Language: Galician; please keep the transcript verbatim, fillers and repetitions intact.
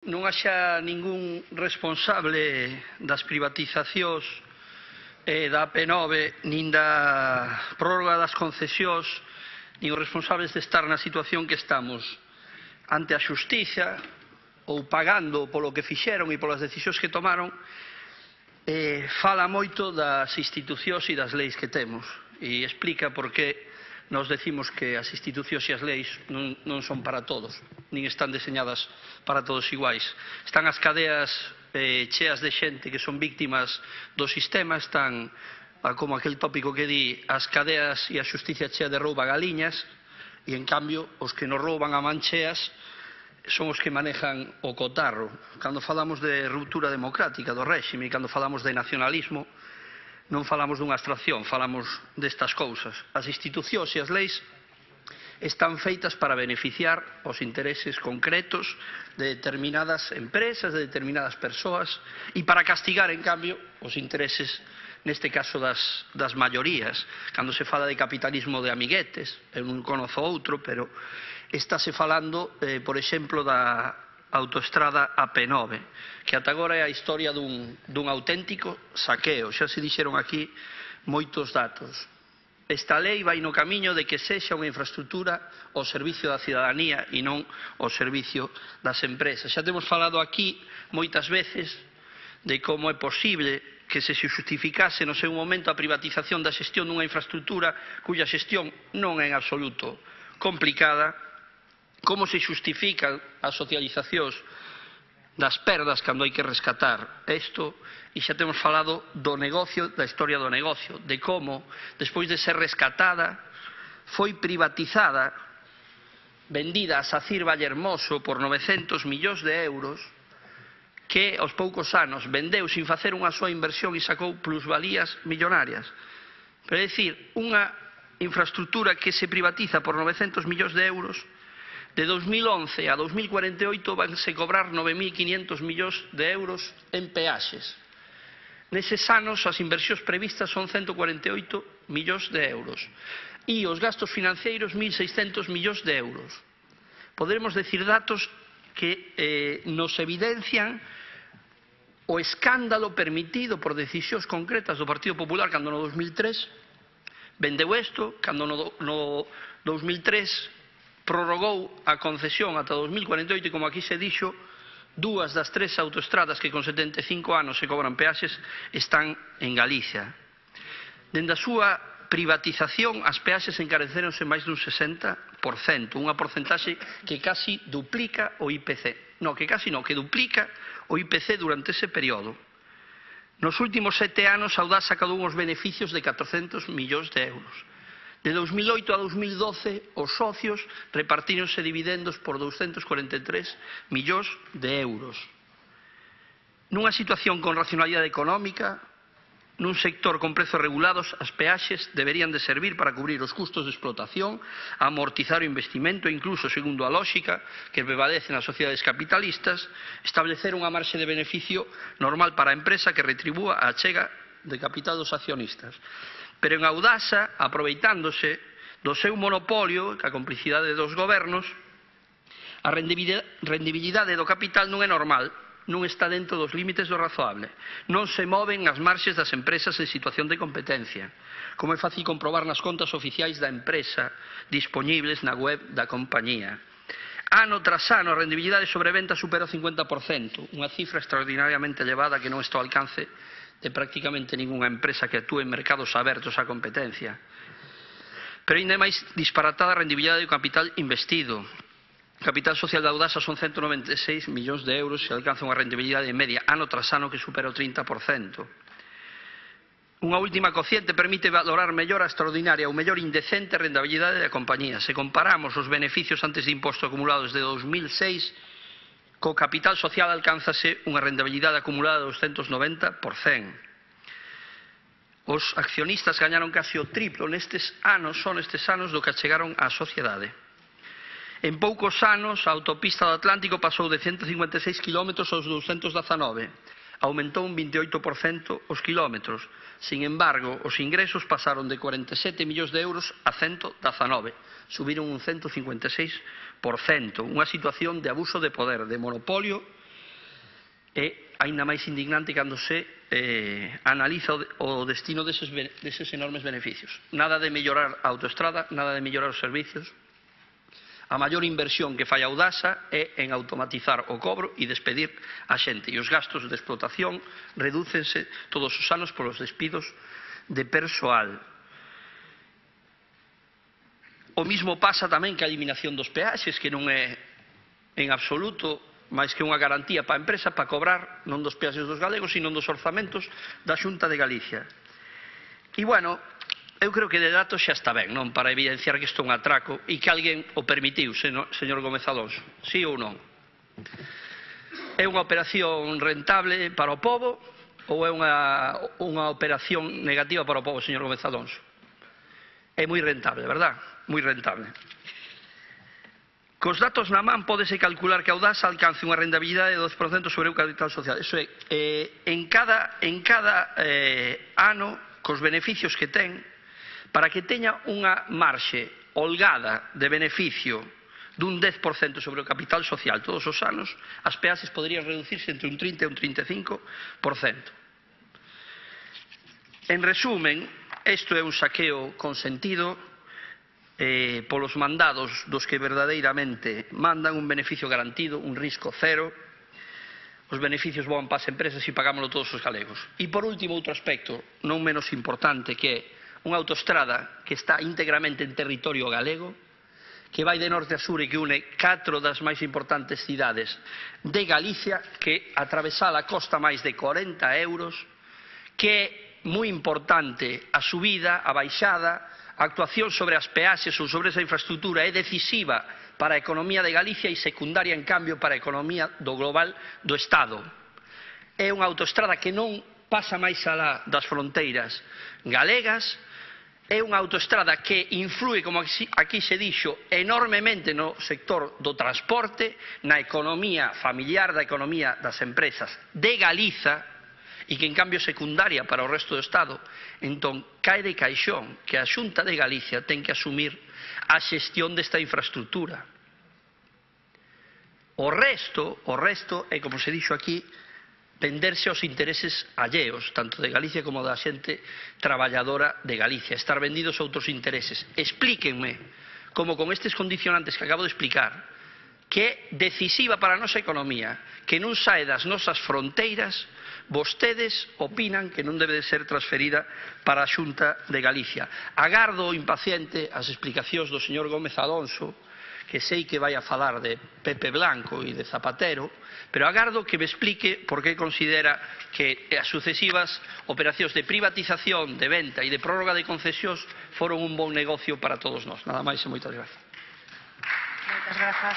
non haxa ningún responsable das privatizacións eh, da A P nove, nin da prórroga das concesións, nin os responsables de estar na situación que estamos ante a xustiza ou pagando polo que fixeron e polas decisións que tomaron, eh, fala moito das institucións e das leis que temos e explica por que nos decimos que as institucións e as leis non, non son para todos, nin están deseñadas para todos iguais. Están as cadeas eh, cheas de xente que son víctimas do sistema, están, como aquel tópico que di, as cadeas e a xusticia chea de rouba galiñas, e en cambio os que nos rouban a mancheas son os que manejan o cotarro. Cando falamos de ruptura democrática do réxime e cando falamos de nacionalismo, non falamos dunha abstracción, falamos destas cousas. As institucións e as leis están feitas para beneficiar os intereses concretos de determinadas empresas, de determinadas persoas, e para castigar, en cambio, os intereses, neste caso, das, das maiorías. Cando se fala de capitalismo de amiguetes, eu non conozo outro, pero estáse falando, eh, por exemplo, da autoestrada A P nove, que ata agora é a historia dun, dun auténtico saqueo. Xa se dixeron aquí moitos datos. Esta lei vai no camiño de que sexa unha infraestructura ao servicio da cidadanía e non ao servicio das empresas. Xa temos falado aquí moitas veces de como é posible que se xustificase no seu momento a privatización da xestión dunha infraestructura cuya xestión non é en absoluto complicada, como se xustifican as socializacións das perdas cando hai que rescatar isto, e xa temos falado do negocio, da historia do negocio, de como, despois de ser rescatada, foi privatizada, vendida a Sacir Vallehermoso por novecentos millóns de euros, que aos poucos anos vendeu sin facer unha soa inversión e sacou plusvalías millonarias. Pero é dicir, unha infraestructura que se privatiza por novecentos millóns de euros, de dos mil once a dos mil cuarenta e oito vanse cobrar nove mil quinientos millóns de euros en peaxes. Neses anos as inversións previstas son ciento cuarenta e oito millóns de euros e os gastos financeiros mil seiscentos millóns de euros. Poderemos decir datos que eh, nos evidencian o escándalo permitido por decisións concretas do Partido Popular cando no dos mil tres vendeu isto, cando no, no dos mil tres prorrogou a concesión ata dos mil cuarenta e oito e, como aquí se dixo, dúas das tres autoestradas que con setenta e cinco anos se cobran peaxes están en Galicia. Dende a súa privatización, as peaxes encareceronse máis dun sesenta por cento, unha porcentaxe que casi duplica o I P C. Non, que casi non, que duplica o I P C durante ese período. Nos últimos sete anos, a Audasa sacou uns beneficios de catrocentos millóns de euros. De dos mil oito a dos mil doce, os socios repartíronse dividendos por doscientos cuarenta e tres millóns de euros. Nunha situación con racionalidade económica, nun sector con prezos regulados, as peaxes deberían de servir para cubrir os custos de explotación, amortizar o investimento e incluso, segundo a lógica que prevalece nas sociedades capitalistas, establecer unha marxe de beneficio normal para a empresa que retribúa a achega de capital dos accionistas. Pero en Audasa, aproveitándose do seu monopolio, que a complicidade dos gobernos, a rendibilidade do capital non é normal, non está dentro dos límites do razoable. Non se moven as marxes das empresas en situación de competencia, como é fácil comprobar nas contas oficiais da empresa dispoñibles na web da compañía. Ano tras ano, a rendibilidade sobre venta supera o cincuenta por cento, unha cifra extraordinariamente elevada que non está ao alcance de prácticamente ningunha empresa que actúe en mercados abertos á competencia. Pero ainda é máis disparatada a rendibilidade do capital investido. O capital social da Audasa son ciento noventa e seis millóns de euros e alcanza unha rendibilidade media ano tras ano que supera o trinta por cento. Unha última cociente permite valorar mellor a extraordinaria ou mellor indecente rentabilidade da compañía. Se comparamos os beneficios antes de imposto acumulados de dos mil seis, co capital social alcánzase unha rentabilidade acumulada de doscientos noventa por cento. Os accionistas gañaron casi o triplo nestes anos, son estes anos do que achegaron á sociedade. En poucos anos, a autopista do Atlántico pasou de ciento cincuenta e seis kilómetros aos doscientos dezanove. Aumentou un vinte e oito por cento os kilómetros. Sin embargo, os ingresos pasaron de cuarenta e sete millóns de euros a ciento dezanove. Subiron un ciento cincuenta e seis por cento. Unha situación de abuso de poder, de monopolio é aínda máis indignante cando se eh, analiza o destino deses, deses enormes beneficios. Nada de mellorar a autoestrada, nada de mellorar os servicios. A maior inversión que fai a Audasa é en automatizar o cobro e despedir a xente. E os gastos de explotación redúcense todos os anos polos despidos de persoal. O mismo pasa tamén que a eliminación dos peaxes, que non é en absoluto máis que unha garantía para a empresa para cobrar non dos peaxes dos galegos, sino dos orzamentos da Xunta de Galicia. E, bueno, eu creo que de datos xa está ben, non? Para evidenciar que isto é un atraco e que alguén o permitiu, señor Gómez Alonso. Sí ou non? É unha operación rentable para o pobo ou é unha, unha operación negativa para o pobo, señor Gómez Alonso? É moi rentable, verdad? Moi rentable. Cos datos na man pódese calcular que a Audasa alcance unha rentabilidade de dos por cento sobre o capital social. Iso é, eh, en cada, en cada eh, ano, cos beneficios que ten, para que teña unha marxe holgada de beneficio dun dez por cento sobre o capital social todos os anos, as peaxes poderían reducirse entre un trinta e un trinta e cinco por cento. En resumen, isto é un saqueo consentido eh, polos mandados dos que verdadeiramente mandan un beneficio garantido, un risco cero. Os beneficios van para as empresas e pagámoslo todos os galegos. E por último, outro aspecto non menos importante, que é unha autoestrada que está íntegramente en territorio galego, que vai de norte a sur e que une catro das máis importantes cidades de Galicia, que atravesala costa máis de corenta euros, que é moi importante a subida, a baixada, a actuación sobre as peaxes ou sobre esa infraestructura é decisiva para a economía de Galicia e secundaria, en cambio, para a economía do global do Estado. É unha autoestrada que non pasa máis alá das fronteiras galegas, é unha autoestrada que influe, como aquí se dixo, enormemente no sector do transporte, na economía familiar, da economía das empresas de Galiza, e que en cambio é secundaria para o resto do Estado. Entón, cae de caixón que a Xunta de Galicia ten que asumir a xestión desta infraestructura. O resto, o resto é, como se dixo aquí, venderse aos intereses alleos, tanto de Galicia como da xente traballadora de Galicia, estar vendidos a outros intereses. Explíquenme como con estes condicionantes que acabo de explicar, que é decisiva para a nosa economía, que non sae das nosas fronteiras, vostedes opinan que non debe de ser transferida para a Xunta de Galicia. Agardo impaciente as explicacións do señor Gómez Alonso, que sei que vai a falar de Pepe Blanco e de Zapatero, pero agardo que me explique por que considera que as sucesivas operacións de privatización, de venta e de prórroga de concesións foron un bon negocio para todos nós. Nada máis e moitas grazas. Moitas grazas.